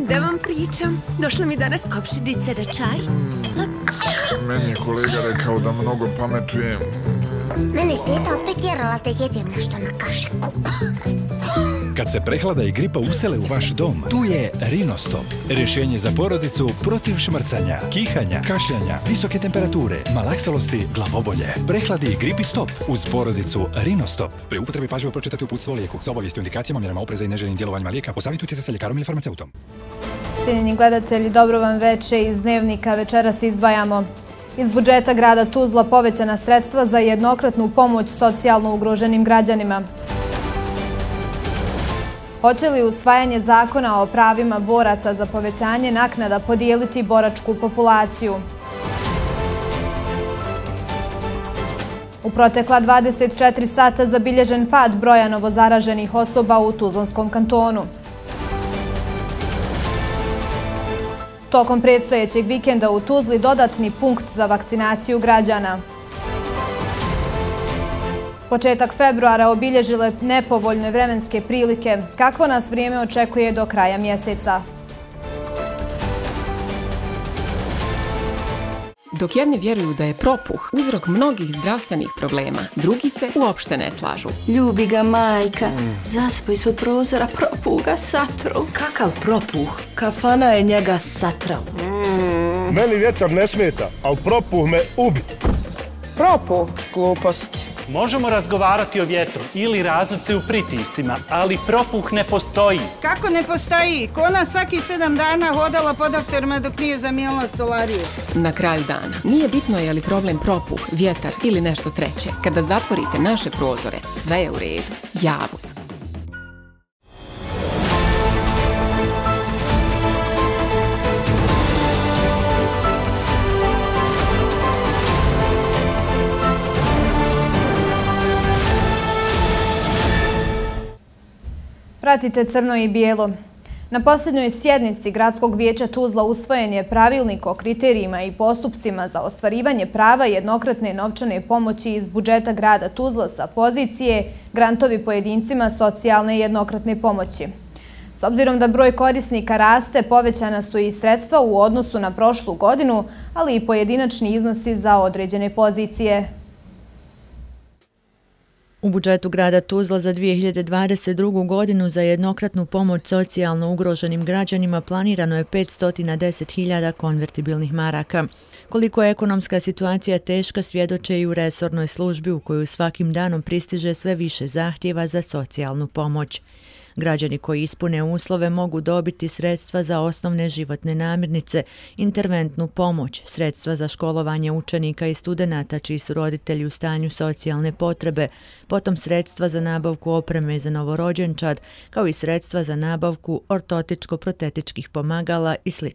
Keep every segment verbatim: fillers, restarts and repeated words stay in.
Da vam pričam, došla mi danas kopšidice na čaj. Meni je kolega rekao da mnogo pametujem. Mene teta opet tjerala da jedem nešto na kašiku. Kad se prehlada i gripa usele u vaš dom, tu je Rinostop. Rješenje za porodicu protiv šmrcanja, kihanja, kašljanja, visoke temperature, malaksalosti, glavobolje. Prehladi i gripi stop uz porodicu Rinostop. Pri upotrebi pažljivo pročitati uputstvo o lijeku. Za obavijesti o indikacijama, mjerama opreza i neželjenim djelovanjima lijeka, posavitujte se sa ljekarom ili farmaceutom. Cijenjeni gledatelji, dobro vam veče iz Dnevnika. Večeras izdvajamo iz budžeta grada Tuzla povećana sredstva za jednokratnu pomoć socijalno ugroženim građanima. Hoće li usvajanje zakona o pravima boraca za povećanje naknada podijeliti boračku populaciju? U protekla dvadeset četiri sata zabilježen pad broja novozaraženih osoba u Tuzlanskom kantonu. Tokom predstojećeg vikenda u Tuzli dodatni punkt za vakcinaciju građana. Početak februara obilježile nepovoljne vremenske prilike. Kakvo nas vrijeme očekuje do kraja mjeseca? Dok jedni vjeruju da je propuh uzrok mnogih zdravstvenih problema, drugi se uopšte ne slažu. Ljubi ga majka, zaspo ispod prozora, propuh ga satru. Kakav propuh? Kafana je njega satrao. Mm, meni vjetar ne smeta, ali propuh me ubi. Propuh? Gluposti. Možemo razgovarati o vjetru ili razlici u pritiscima, ali propuh ne postoji. Kako ne postoji? Ko ona svaki sedam dana hodala po doktorima dok nije zamijenila stolariju? Na kraju dana, nije bitno je li problem propuh, vjetar ili nešto treće. Kada zatvorite naše prozore, sve je u redu. Javuz. Pratite Crno i bijelo. Na posljednjoj sjednici Gradskog vijeća Tuzla usvojen je pravilnik o kriterijima i postupcima za ostvarivanje prava jednokratne novčane pomoći iz budžeta grada Tuzla sa pozicije grantovi pojedincima socijalne jednokratne pomoći. S obzirom da broj korisnika raste, povećana su i sredstva u odnosu na prošlu godinu, ali i pojedinačni iznosi za određene pozicije. U budžetu grada Tuzla za dvije hiljade dvadeset drugu. godinu za jednokratnu pomoć socijalno ugroženim građanima planirano je petsto deset hiljada konvertibilnih maraka. Koliko je ekonomska situacija teška svjedoče i u resornoj službi u koju svakim danom pristiže sve više zahtjeva za socijalnu pomoć. Građani koji ispune uslove mogu dobiti sredstva za osnovne životne namirnice, interventnu pomoć, sredstva za školovanje učenika i studenata čiji su roditelji u stanju socijalne potrebe, potom sredstva za nabavku opreme za novorođenčad, kao i sredstva za nabavku ortotičko-protetičkih pomagala i sl.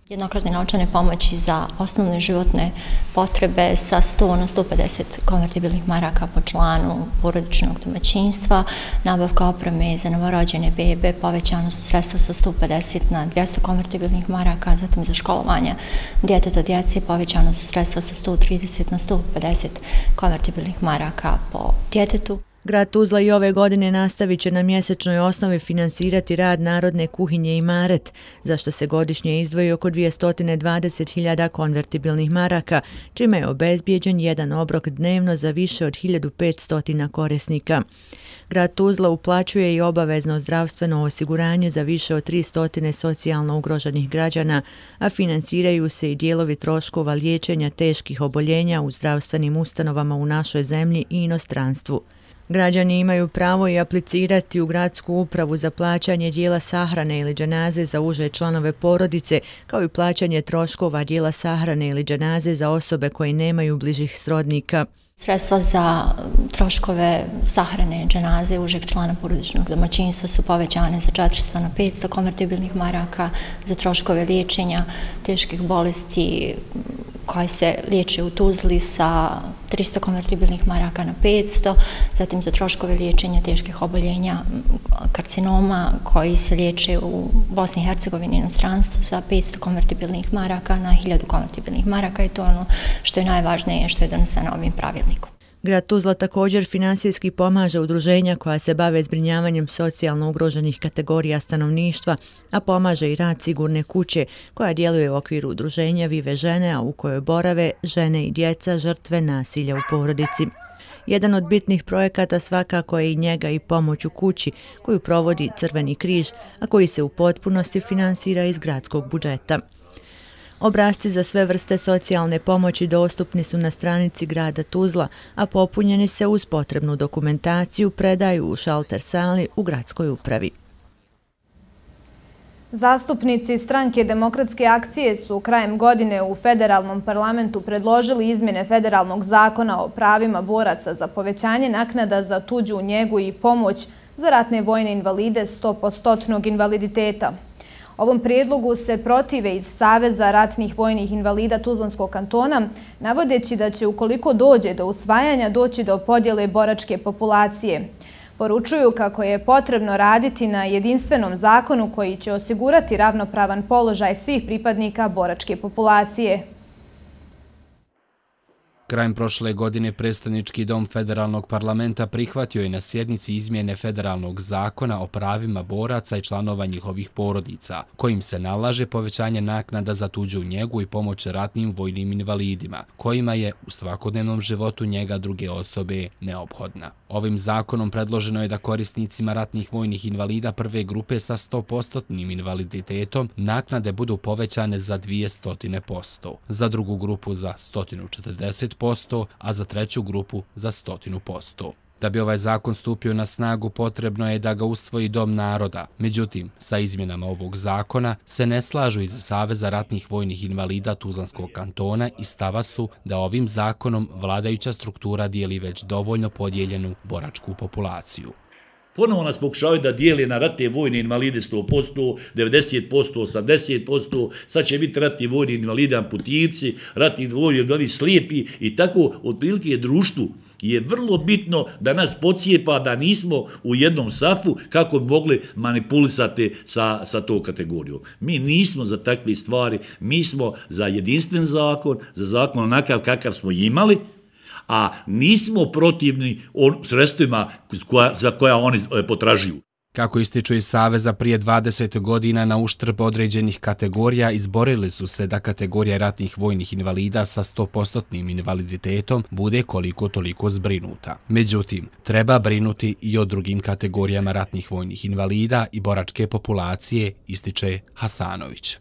Jednokratne novčane pomoći za osnovne životne potrebe sa sto na sto pedeset konvertibilnih maraka po članu porodičnog domaćinstva, nabavka opreme za novorođene bebe, povećano su sredstva sa sto pedeset na dvjesto konvertibilnih maraka, zatim za školovanje djeteta djece povećano su sredstva sa sto trideset na sto pedeset konvertibilnih maraka po djetetu. Grad Tuzla i ove godine nastavit će na mjesečnoj osnovi finansirati rad Narodne kuhinje Imaret, za što se godišnje izdvoji oko dvjesto dvadeset hiljada konvertibilnih maraka, čime je obezbijeđen jedan obrok dnevno za više od hiljadu petsto korisnika. Grad Tuzla uplaćuje i obavezno zdravstveno osiguranje za više od tristo socijalno ugroženih građana, a finansiraju se i dijelovi troškova liječenja teških oboljenja u zdravstvenim ustanovama u našoj zemlji i inostranstvu. Građani imaju pravo i aplicirati u gradsku upravu za plaćanje dijela sahrane ili dženaze za uže članove porodice, kao i plaćanje troškova dijela sahrane ili dženaze za osobe koje nemaju bližih srodnika. Sredstva za troškove sahrane dženaze užeg člana porodičnog domaćinstva su povećane za četiristo na petsto konvertibilnih maraka, za troškove liječenja teških bolesti koje se liječe u Tuzli sa tristo konvertibilnih maraka na petsto, zatim za troškove liječenja teških oboljenja karcinoma koji se liječe u Bosni i Hercegovini i inostranstvu sa petsto konvertibilnih maraka na hiljadu konvertibilnih maraka i to ono što je najvažnije što je doneseno ovim pravilnikom. Grad Tuzla također finansijski pomaže udruženja koja se bave zbrinjavanjem socijalno ugroženih kategorija stanovništva, a pomaže i rad Sigurne kuće koja djeluje u okviru udruženja Vive žene, a u kojoj borave žene i djeca žrtve nasilja u porodici. Jedan od bitnih projekata svakako je i njega i pomoć u kući koju provodi Crveni križ, a koji se u potpunosti finansira iz gradskog budžeta. Obrasci za sve vrste socijalne pomoći dostupni su na stranici grada Tuzla, a popunjeni se uz potrebnu dokumentaciju predaju u šalter sali u gradskoj upravi. Zastupnici stranke Demokratske akcije su krajem godine u federalnom parlamentu predložili izmjene federalnog zakona o pravima boraca za povećanje naknada za tuđu njegu i pomoć za ratne vojne invalide sto posto invaliditeta. Ovom prijedlogu se protive iz Saveza ratnih vojnih invalida Tuzlanskog kantona, navodeći da će ukoliko dođe do usvajanja doći do podjele boračke populacije. Poručuju kako je potrebno raditi na jedinstvenom zakonu koji će osigurati ravnopravan položaj svih pripadnika boračke populacije. Krajem prošle godine predstavnički dom federalnog parlamenta prihvatio je na sjednici izmjene federalnog zakona o pravima boraca i članova njihovih porodica, kojim se nalaže povećanje naknada za tuđu njegu i pomoć ratnim vojnim invalidima, kojima je u svakodnevnom životu njega druge osobe neophodna. Ovim zakonom predloženo je da korisnicima ratnih vojnih invalida prve grupe sa sto posto invaliditetom naknade budu povećane za dvjesto posto, za drugu grupu za sto četrdeset posto, a za treću grupu za sto posto. Da bi ovaj zakon stupio na snagu, potrebno je da ga usvoji Dom naroda. Međutim, sa izmjenama ovog zakona se ne slažu iz Saveza ratnih vojnih invalida Tuzlanskog kantona i stava su da ovim zakonom vladajuća struktura dijeli već dovoljno podijeljenu boračku populaciju. Ponovo nas pokušavaju da dijeli na ratne vojne invalide sto posto, devedeset posto, osamdeset posto, sad će biti ratni vojni invalide amputirci, ratni vojni invalidi slijepi i tako otprilike je društvu je vrlo bitno da nas podcijepa da nismo u jednom safu kako bi mogli manipulisati sa, sa to kategorijom. Mi nismo za takve stvari, mi smo za jedinstven zakon, za zakon onakav kakav smo imali, a nismo protivni sredstvima za koja oni potražuju. Kako ističu iz Saveza, prije dvadeset godina na uštrb određenih kategorija izborili su se da kategorija ratnih vojnih invalida sa sto posto invaliditetom bude koliko toliko zbrinuta. Međutim, treba brinuti i o drugim kategorijama ratnih vojnih invalida i boračke populacije, ističe Hasanović.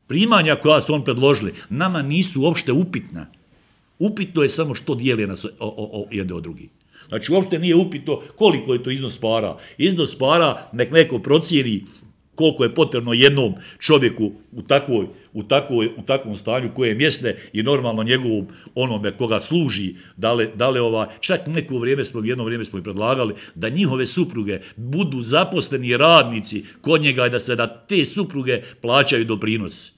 Primanja koja su on predložili nama nisu uopšte upitna. Upitno je samo što dijeli nas jedne od drugih. Znači, uopšte nije upitno koliko je to iznos para. Iznos para nek neko procijeni koliko je potrebno jednom čovjeku u, takvoj, u, takvoj, u takvom stanju koje je mjesne i normalno njegovom onome koga služi. Dale, dale ova, čak neko vrijeme smo, jedno vrijeme smo i predlagali da njihove supruge budu zaposleni radnici kod njega i da se da te supruge plaćaju doprinos.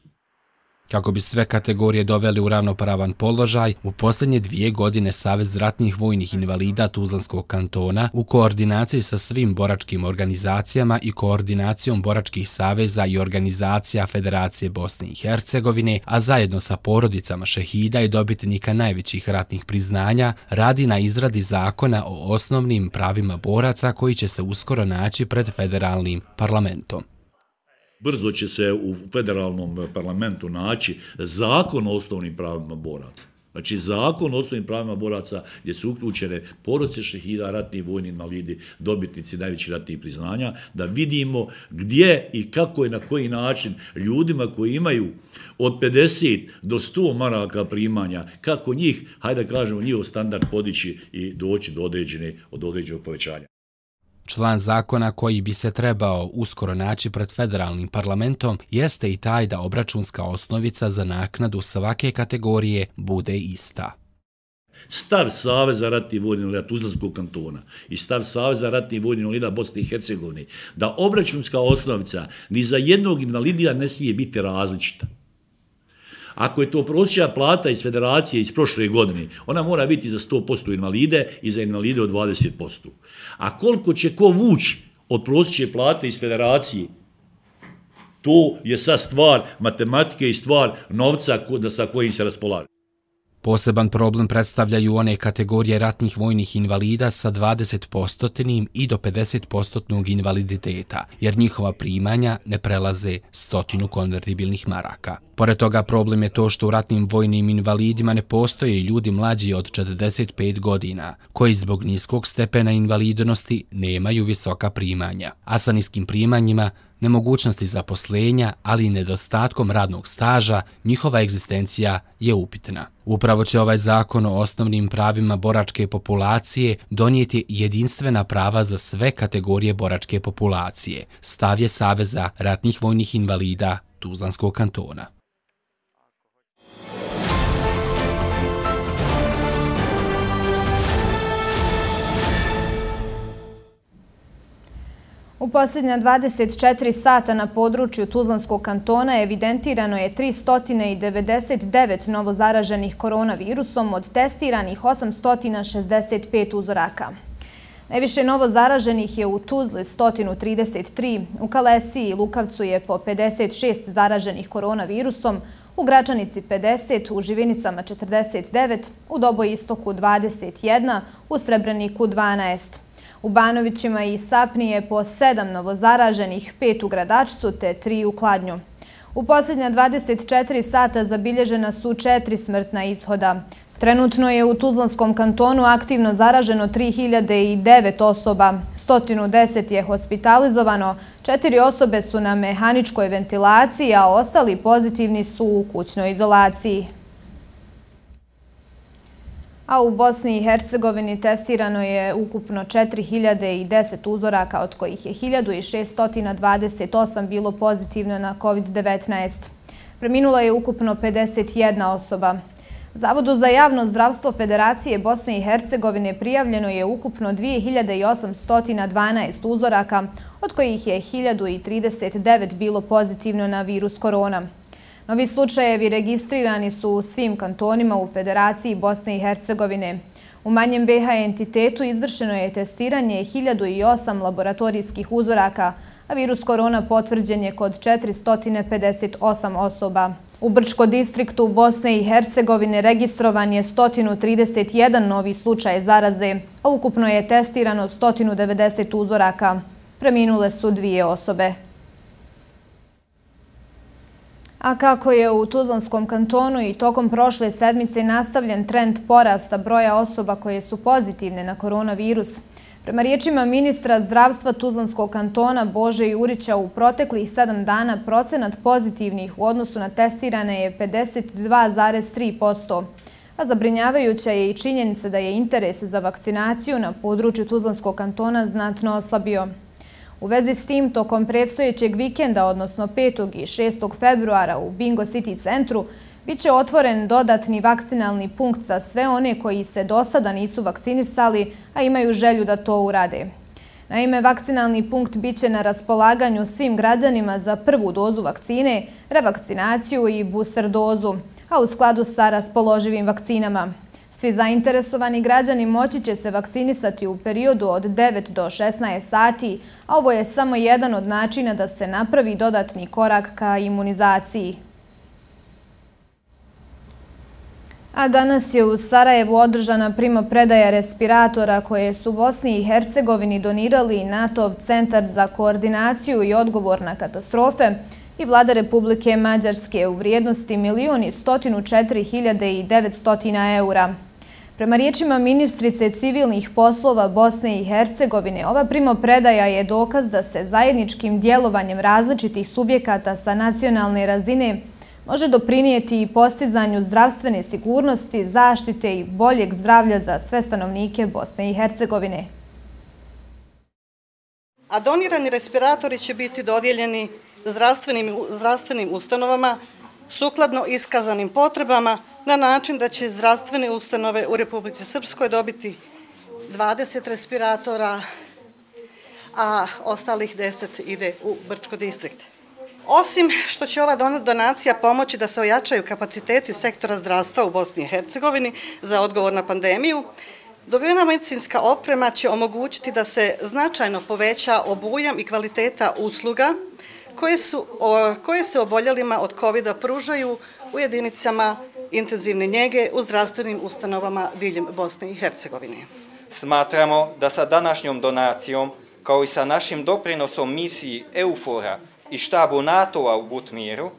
Kako bi sve kategorije doveli u ravnopravan položaj, u posljednje dvije godine Savez ratnih vojnih invalida Tuzlanskog kantona u koordinaciji sa svim boračkim organizacijama i koordinacijom boračkih saveza i organizacija Federacije Bosne i Hercegovine, a zajedno sa porodicama šehida i dobitnika najvećih ratnih priznanja, radi na izradi zakona o osnovnim pravima boraca koji će se uskoro naći pred federalnim parlamentom. Brzo će se u federalnom parlamentu naći zakon o osnovnim pravima boraca. Znači, zakon o osnovnim pravima boraca gdje su uključene porodice šehida, ratni vojni invalidi, dobitnici najvećih ratnih priznanja, da vidimo gdje i kako i na koji način ljudima koji imaju od pedeset do sto maraka primanja, kako njih, hajde da kažemo, njihov standard podići i doći do određene, od određenog povećanja. Član zakona koji bi se trebao uskoro naći pred federalnim parlamentom jeste i taj da obračunska osnovica za naknadu svake kategorije bude ista. Stav Saveza ratnih vojnih invalida Tuzlanskog kantona i stav Saveza ratnih vojnih invalida Bosne i Hercegovine da obračunska osnovica ni za jednog invalida ne smije biti različita. Ako je to prosječna plata iz federacije iz prošle godine, ona mora biti za sto posto invalide i za invalide od dvadeset posto. A koliko će ko vući od prosječne plate iz federacije, to je sad stvar matematike i stvar novca sa kojim se raspolaže. Poseban problem predstavljaju one kategorije ratnih vojnih invalida sa dvadeset posto i do pedeset posto invaliditeta, jer njihova primanja ne prelaze stotinu konvertibilnih maraka. Pored toga, problem je to što u ratnim vojnim invalidima ne postoje ljudi mlađi od četrdeset pet godina, koji zbog niskog stepena invalidnosti nemaju visoka primanja, a sa niskim primanjima, nemogućnosti zaposlenja, ali i nedostatkom radnog staža, njihova egzistencija je upitna. Upravo će ovaj zakon o osnovnim pravima boračke populacije donijeti jedinstvena prava za sve kategorije boračke populacije, stav je Saveza ratnih vojnih invalida Tuzlanskog kantona. U posljednja dvadeset četiri sata na području Tuzlanskog kantona evidentirano je tristo devedeset devet novozaraženih koronavirusom od testiranih osamsto šezdeset pet uzoraka. Najviše novozaraženih je u Tuzli sto trideset tri, u Kalesiji i Lukavcu je po pedeset šest zaraženih koronavirusom, u Gračanici pedeset, u Živinicama četrdeset devet, u Dobojistoku dvadeset jedan, u Srebreniku dvanaest. U Banovićima i Sapni je po sedam novozaraženih, pet u Gradačcu te tri u Kladnju. U posljednja dvadeset četiri sata zabilježena su četiri smrtna ishoda. Trenutno je u Tuzlanskom kantonu aktivno zaraženo tri hiljade devet osoba, sto deset je hospitalizovano, četiri osobe su na mehaničkoj ventilaciji, a ostali pozitivni su u kućnoj izolaciji. A u Bosni i Hercegovini testirano je ukupno četiri hiljade deset uzoraka, od kojih je hiljadu šeststo dvadeset osam bilo pozitivno na kovid devetnaest. Preminula je ukupno pedeset jedna osoba. Zavodu za javno zdravstvo Federacije Bosne i Hercegovine prijavljeno je ukupno dvije hiljade osamsto dvanaest uzoraka, od kojih je hiljadu trideset devet bilo pozitivno na virus korona. Novi slučajevi registrirani su u svim kantonima u Federaciji Bosne i Hercegovine. U manjem be ha entitetu izvršeno je testiranje hiljadu osam laboratorijskih uzoraka, a virus korona potvrđen je kod četiristo pedeset osam osoba. U Brčko distriktu Bosne i Hercegovine registrovan je sto trideset jedan novi slučaj zaraze, a ukupno je testirano sto devedeset uzoraka. Preminule su dvije osobe. A kako je u Tuzlanskom kantonu i tokom prošle sedmice nastavljen trend porasta broja osoba koje su pozitivne na koronavirus, prema riječima ministra zdravstva Tuzlanskog kantona Bože Jurića, u proteklih sedam dana procenat pozitivnih u odnosu na testirane je pedeset dva zarez tri posto, a zabrinjavajuća je i činjenica da je interes za vakcinaciju na području Tuzlanskog kantona znatno oslabio. U vezi s tim, tokom predstojećeg vikenda, odnosno petog i šestog februara u Bingo City centru, bit će otvoren dodatni vakcinalni punkt za sve one koji se do sada nisu vakcinisali, a imaju želju da to urade. Naime, vakcinalni punkt bit će na raspolaganju svim građanima za prvu dozu vakcine, revakcinaciju i booster dozu, a u skladu sa raspoloživim vakcinama. Svi zainteresovani građani moći će se vakcinisati u periodu od devet do šesnaest sati, a ovo je samo jedan od načina da se napravi dodatni korak ka imunizaciji. A danas je u Sarajevu održana primopredaja respiratora koje su Bosni i Hercegovini donirali NATO-v Centar za koordinaciju i odgovor na katastrofe i Vlada Republike Mađarske u vrijednosti milion sto četiri hiljade devetsto eura. Prema riječima ministrice civilnih poslova Bosne i Hercegovine, ova primopredaja je dokaz da se zajedničkim djelovanjem različitih subjekata sa nacionalne razine može doprinijeti i postizanju zdravstvene sigurnosti, zaštite i boljeg zdravlja za sve stanovnike Bosne i Hercegovine. A donirani respiratori će biti dodijeljeni zdravstvenim, zdravstvenim ustanovama sukladno iskazanim potrebama na način da će zdravstvene ustanove u Republici Srpskoj dobiti dvadeset respiratora, a ostalih deset ide u Brčko distrikt. Osim što će ova donacija pomoći da se ojačaju kapaciteti sektora zdravstva u Bosni i Hercegovini za odgovor na pandemiju, dobivena medicinska oprema će omogućiti da se značajno poveća obujam i kvaliteta usluga koje, su, koje se oboljelima od kovida pružaju u jedinicama intenzivne njege u zdravstvenim ustanovama diljem Bosne i Hercegovine. Smatramo da sa današnjom donacijom, kao i sa našim doprinosom misiji EUFOR-a i štabu NATO-a u Butmiru,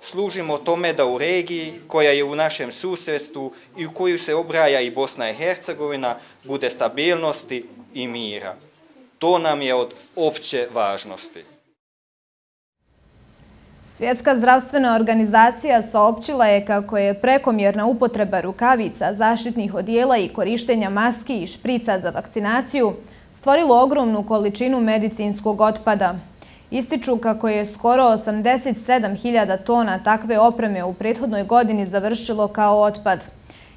služimo tome da u regiji, koja je u našem susjedstvu i u koju se obraja i Bosna i Hercegovina, bude stabilnosti i mira. To nam je od opće važnosti. Svjetska zdravstvena organizacija saopćila je kako je prekomjerna upotreba rukavica, zaštitnih odijela i korištenja maski i šprica za vakcinaciju stvorilo ogromnu količinu medicinskog otpada. Ističu kako je skoro osamdeset sedam hiljada tona takve opreme u prethodnoj godini završilo kao otpad.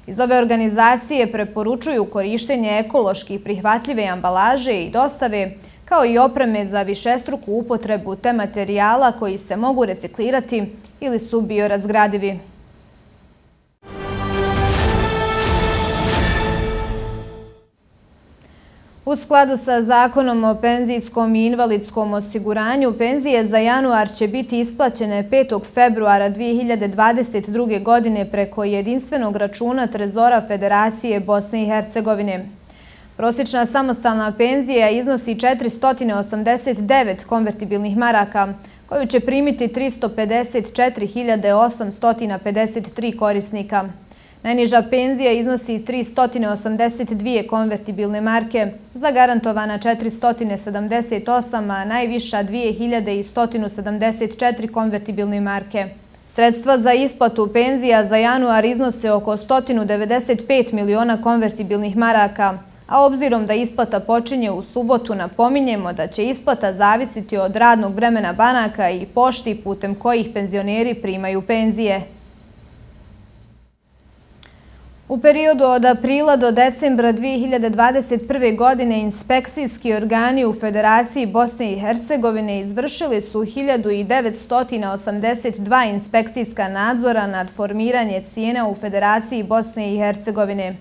Iz ove organizacije preporučuju korištenje ekološki prihvatljive ambalaže i dostave, kao i opreme za višestruku upotrebu te materijala koji se mogu reciklirati ili su biorazgradivi. U skladu sa Zakonom o penzijskom i invalidskom osiguranju, penzije za januar će biti isplaćene petog februara dvije hiljade dvadeset druge. godine preko jedinstvenog računa Trezora Federacije Bosne i Hercegovine. Prosječna samostalna penzija iznosi četiristo osamdeset devet konvertibilnih maraka, koju će primiti tristo pedeset četiri hiljade osamsto pedeset tri korisnika. Najniža penzija iznosi tristo osamdeset dvije konvertibilne marke, zagarantovana četiristo sedamdeset osam, a najviša dvije hiljade sto sedamdeset četiri konvertibilne marke. Sredstva za isplatu penzija za januar iznose oko sto devedeset pet miliona konvertibilnih maraka, a obzirom da isplata počinje u subotu, napominjemo da će isplata zavisiti od radnog vremena banaka i pošti putem kojih penzioneri primaju penzije. U periodu od aprila do decembra dvije hiljade dvadeset prve. godine inspekcijski organi u Federaciji Bosne i Hercegovine izvršili su hiljadu devetsto osamdeset dva inspekcijska nadzora nad formiranje cijena u Federaciji Bosne i Hercegovine.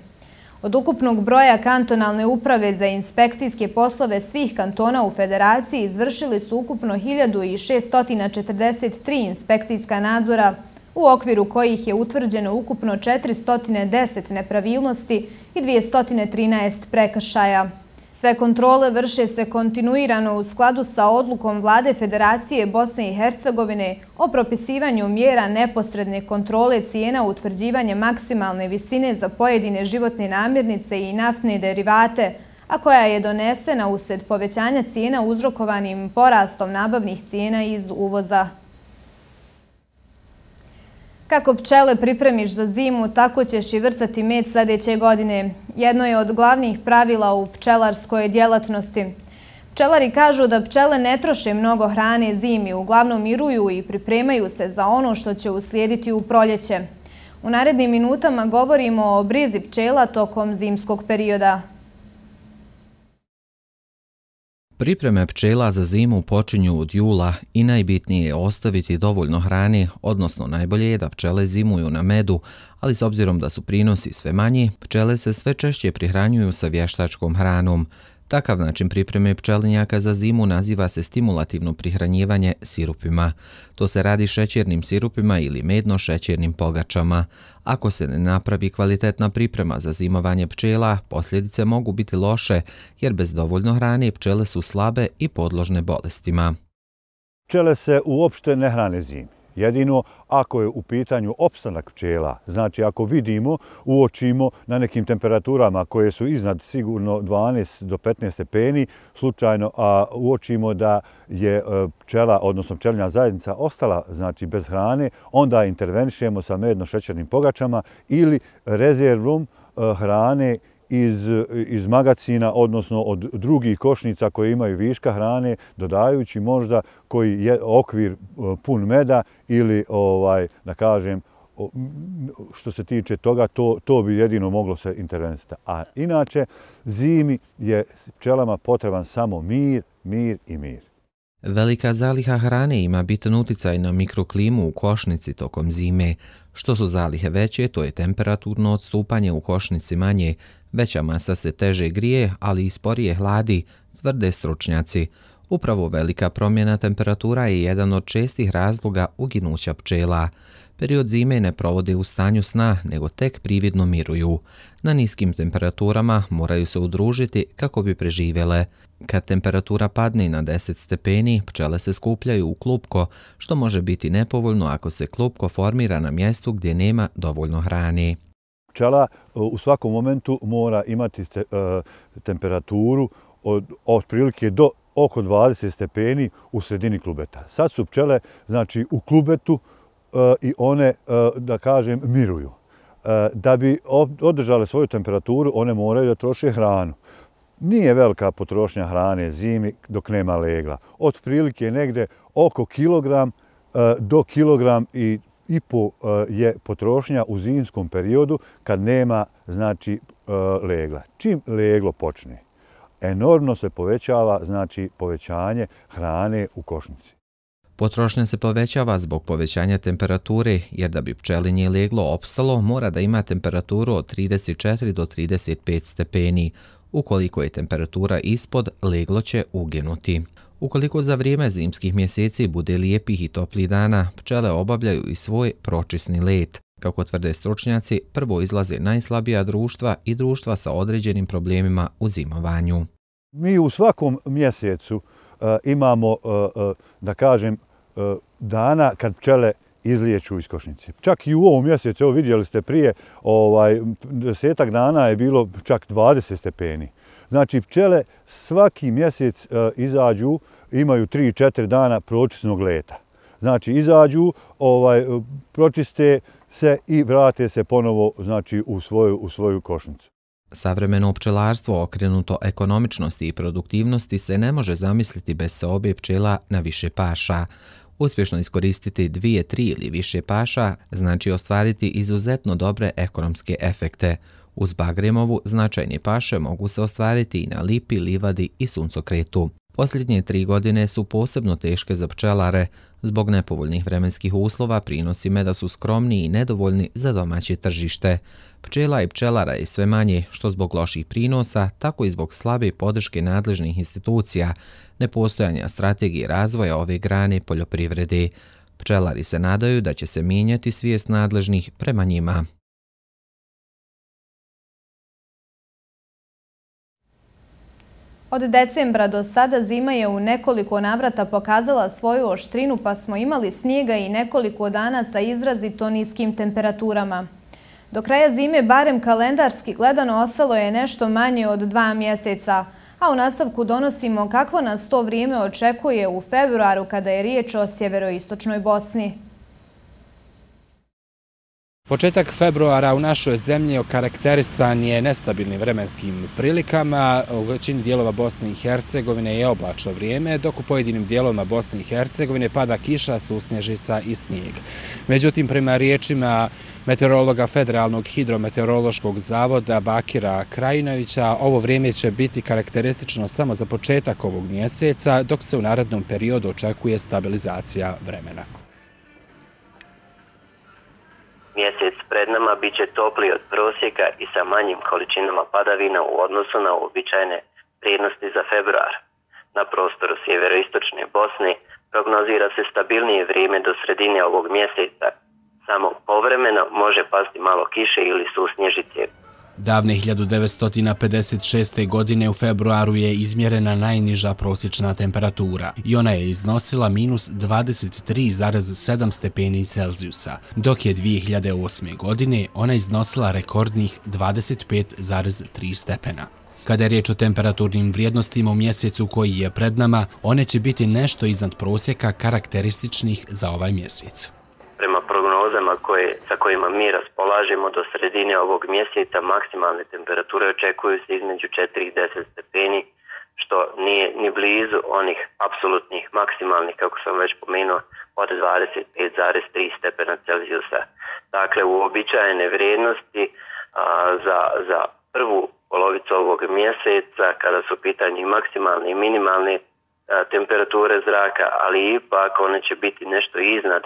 Od ukupnog broja kantonalne uprave za inspekcijske poslove svih kantona u Federaciji izvršili su ukupno hiljadu šeststo četrdeset tri inspekcijska nadzora, u okviru kojih je utvrđeno ukupno četiristo deset nepravilnosti i dvjesto trinaest prekršaja. Sve kontrole vrše se kontinuirano u skladu sa odlukom Vlade Federacije Bosne i Hercegovine o propisivanju mjera neposredne kontrole cijena, utvrđivanje maksimalne visine za pojedine životne namirnice i naftne derivate, a koja je donesena usred povećanja cijena uzrokovanim porastom nabavnih cijena iz uvoza. Kako pčele pripremiš za zimu, tako ćeš i vrcati med sljedeće godine. Jedno je od glavnih pravila u pčelarskoj djelatnosti. Pčelari kažu da pčele ne troše mnogo hrane zimi, uglavnom miruju i pripremaju se za ono što će uslijediti u proljeće. U narednim minutama govorimo o brizi pčela tokom zimskog perioda. Pripreme pčela za zimu počinju od jula i najbitnije je ostaviti dovoljno hrane, odnosno najbolje je da pčele zimuju na medu, ali s obzirom da su prinosi sve manji, pčele se sve češće prihranjuju sa vještačkom hranom. Takav način pripreme pčelinjaka za zimu naziva se stimulativno prihranjivanje sirupima. To se radi šećernim sirupima ili medno-šećernim pogačama. Ako se ne napravi kvalitetna priprema za zimovanje pčela, posljedice mogu biti loše, jer bez dovoljno hrane pčele su slabe i podložne bolestima. Pčele se uopšte ne hrane zimi. Jedino ako je u pitanju opstanak pčela, znači ako vidimo, uočimo na nekim temperaturama koje su iznad sigurno dvanaest do petnaest stepeni, slučajno a uočimo da je pčela, odnosno pčelinja zajednica ostala znači bez hrane, onda intervenišemo sa medno-šećernim pogačama ili rezervom hrane iz, iz magacina, odnosno od drugih košnica koje imaju viška hrane, dodajući možda koji je okvir pun meda ili, ovaj, da kažem, što se tiče toga, to, to bi jedino moglo se intervenisati. A inače, zimi je pčelama potreban samo mir, mir i mir. Velika zaliha hrane ima bitan uticaj na mikroklimu u košnici tokom zime. Što su zalihe veće, to je temperaturno odstupanje u košnici manje. Veća masa se teže grije, ali i sporije hladi, tvrde stručnjaci. Upravo velika promjena temperatura je jedan od čestih razloga uginuća pčela. Period zime ne provode u stanju sna, nego tek prividno miruju. Na niskim temperaturama moraju se udružiti kako bi preživjele. Kad temperatura padne na deset stepeni, pčele se skupljaju u klupko, što može biti nepovoljno ako se klupko formira na mjestu gdje nema dovoljno hrane. Pčela u svakom momentu mora imati te, uh, temperaturu od otprilike do oko dvadeset stepeni u sredini klubeta. Sad su pčele znači, u klubetu uh, i one, uh, da kažem, miruju. Uh, da bi održale svoju temperaturu, one moraju da troše hranu. Nije velika potrošnja hrane zimi dok nema legla. Otprilike negde oko kilogram uh, do kilogram i i po je potrošnja u zimskom periodu kad nema znači legla. Čim leglo počne, enormno se povećava znači povećanje hrane u košnici. Potrošnja se povećava zbog povećanja temperature, jer da bi pčelinje leglo opstalo, mora da ima temperaturu od trideset četiri do trideset pet stepeni. Ukoliko je temperatura ispod, leglo će uginuti. Ukoliko za vrijeme zimskih mjeseci bude lijepih i toplih dana, pčele obavljaju i svoj pročisni let. Kako tvrde stručnjaci, prvo izlaze najslabija društva i društva sa određenim problemima u zimovanju. Mi u svakom mjesecu uh, imamo, uh, uh, da kažem, uh, dana kad pčele izliječu iz košnice. Čak i u ovom mjesecu, evo vidjeli ste prije, ovaj, desetak dana je bilo čak dvadeset stepeni. Znači, pčele svaki mjesec uh, izađu, imaju tri četiri dana pročisnog leta. Znači, izađu, ovaj, pročiste se i vrate se ponovo znači, u, svoju, u svoju košnicu. Savremeno pčelarstvo okrenuto ekonomičnosti i produktivnosti se ne može zamisliti bez seobe pčela na više paša. Uspješno iskoristiti dvije, tri ili više paša znači ostvariti izuzetno dobre ekonomske efekte. Uz bagremovu značajne paše mogu se ostvariti i na lipi, livadi i suncokretu. Posljednje tri godine su posebno teške za pčelare. Zbog nepovoljnih vremenskih uslova prinosi meda su skromni i nedovoljni za domaće tržište. Pčela i pčelara je sve manje, što zbog loših prinosa, tako i zbog slabe podrške nadležnih institucija, nepostojanja strategije razvoja ove grane poljoprivrede. Pčelari se nadaju da će se mijenjati svijest nadležnih prema njima. Od decembra do sada zima je u nekoliko navrata pokazala svoju oštrinu, pa smo imali snijega i nekoliko dana sa izrazito niskim temperaturama. Do kraja zime, barem kalendarski gledano, ostalo je nešto manje od dva mjeseca, a u nastavku donosimo kakvo nas to vrijeme očekuje u februaru kada je riječ o sjeveroistočnoj Bosni. Početak februara u našoj zemlji okarakterisan je nestabilnim vremenskim prilikama. U većini dijelova Bosne i Hercegovine je oblačno vrijeme, dok u pojedinim dijelovima Bosne i Hercegovine pada kiša, susnježica i snijeg. Međutim, prema riječima meteorologa Federalnog hidrometeorološkog zavoda Bakira Krajinovića, ovo vrijeme će biti karakteristično samo za početak ovog mjeseca, dok se u narednom periodu očekuje stabilizacija vremena. Mjesec pred nama bit će topliji od prosjeka i sa manjim količinama padavina u odnosu na uobičajene vrijednosti za februar. Na prostoru sjeveroistočne Bosne prognozira se stabilnije vrijeme do sredine ovog mjeseca. Samo povremeno može pasti malo kiše ili susnježice. Davne hiljadu devetsto pedeset šeste. godine u februaru je izmjerena najniža prosječna temperatura i ona je iznosila minus dvadeset tri zarez sedam stepeni Celzijusa, dok je dvije hiljade osme. godine ona iznosila rekordnih dvadeset pet zarez tri stepena. Kada je riječ o temperaturnim vrijednostima u mjesecu koji je pred nama, one će biti nešto iznad prosjeka karakterističnih za ovaj mjesec. Prema prognozama koje, sa kojima mi raspolažemo do sredine ovog mjeseca, maksimalne temperature očekuju se između četiri i deset stepeni, što nije ni blizu onih apsolutnih maksimalnih, kako sam već pomenuo, od dvadeset pet zarez tri stepena Celzijusa. Dakle, uobičajene vrijednosti a, za, za prvu polovicu ovog mjeseca, kada su u pitanju maksimalne i minimalne a, temperature zraka, ali ipak one će biti nešto iznad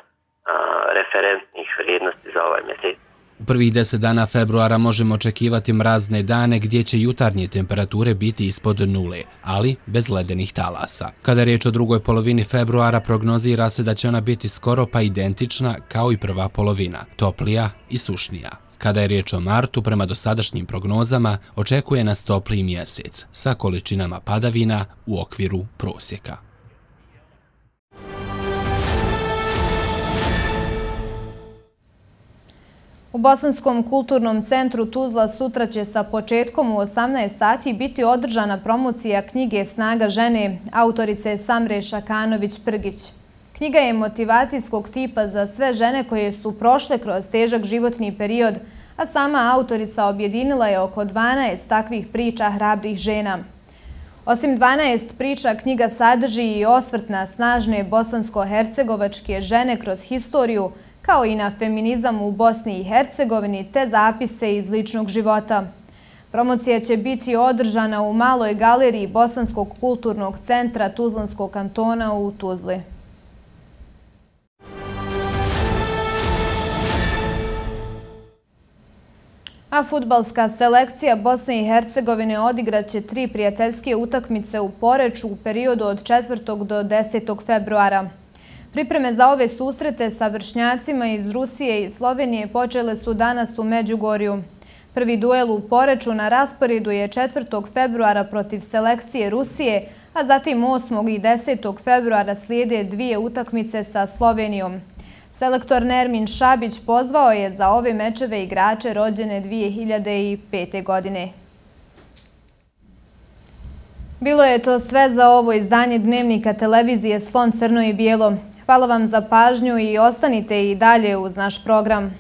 referentnih vrijednosti za ovaj mjesec. U prvih deset dana februara možemo očekivati mrazne dane gdje će jutarnje temperature biti ispod nule, ali bez ledenih talasa. Kada je riječ o drugoj polovini februara, prognozira se da će ona biti skoro pa identična kao i prva polovina, toplija i sušnija. Kada je riječ o martu, prema dosadašnjim prognozama, očekuje nas topliji mjesec sa količinama padavina u okviru prosjeka. U Bosanskom kulturnom centru Tuzla sutra će sa početkom u osamnaest sati biti održana promocija knjige Snaga žene autorice Samre Šakanović-Prgić. Knjiga je motivacijskog tipa za sve žene koje su prošle kroz težak životni period, a sama autorica objedinila je oko dvanaest takvih priča hrabrih žena. Osim dvanaest priča, knjiga sadrži i osvrt na snažne bosansko-hercegovačke žene kroz historiju, kao i na feminizam u Bosni i Hercegovini, te zapise iz ličnog života. Promocija će biti održana u maloj galeriji Bosanskog kulturnog centra Tuzlanskog kantona u Tuzli. A fudbalska selekcija Bosne i Hercegovine odigraće tri prijateljske utakmice u Poreču u periodu od četvrtog do desetog februara. Pripreme za ove susrete sa vršnjacima iz Rusije i Slovenije počele su danas u Međugorju. Prvi duel u Poreču na rasporedu je četvrtog februara protiv selekcije Rusije, a zatim osmog i desetog februara slijede dvije utakmice sa Slovenijom. Selektor Nermin Šabić pozvao je za ove mečeve igrače rođene dvije hiljade pete. godine. Bilo je to sve za ovo izdanje Dnevnika televizije Slon crno i bijelo. Hvala vam za pažnju i ostanite i dalje uz naš program.